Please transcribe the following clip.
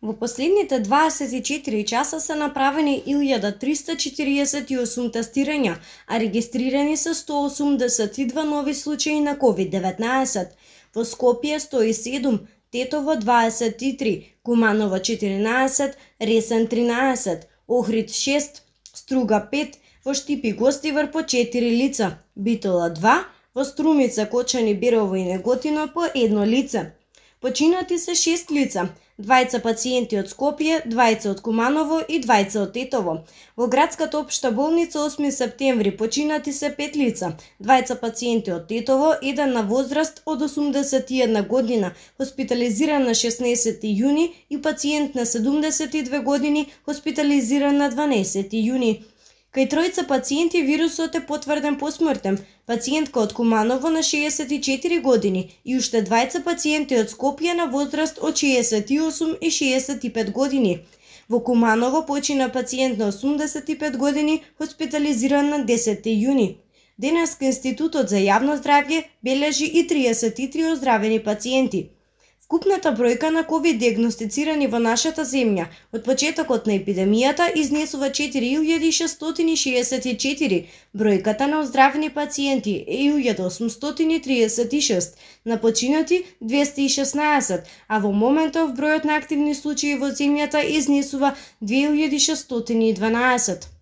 Во последните 24 часа се направени 1348 тестирања, а регистрирани се 182 нови случаи на COVID-19. Во Скопје 107, Тетово 23, Куманово 14, Ресен 13, Охрид 6, Струга 5, во Штипи Гостивар по 4 лица, Битола 2, во Струмица, Кочани, Берово и Неготино по 1 лице. Починати се 6 лица, 2 пациенти од Скопје, 2 од Куманово и 2 од Тетово. Во градската општа болница 8 септември починати се 5 лица, 2 пациенти од Тетово, 1 на возраст од 81 година, хоспитализиран на 16 јуни и пациент на 72 години, хоспитализиран на 12 јуни. Кај тројца пациенти вирусот е потврден посмртен, пациентка од Куманово на 64 години и уште 2 пациенти од Скопје на возраст од 68 и 65 години. Во Куманово почина пациент на 85 години, хоспитализиран на 10 јуни. Денеска Институтот за јавно здравје бележи и 33 оздравени пациенти. Вкупната бројка на ковид диагностицирани во нашата земја од почетокот на епидемијата изнесува 4664, бројката на оздравени пациенти е 1836, на починати 216, а во моментов бројот на активни случаи во земјата изнесува 2612.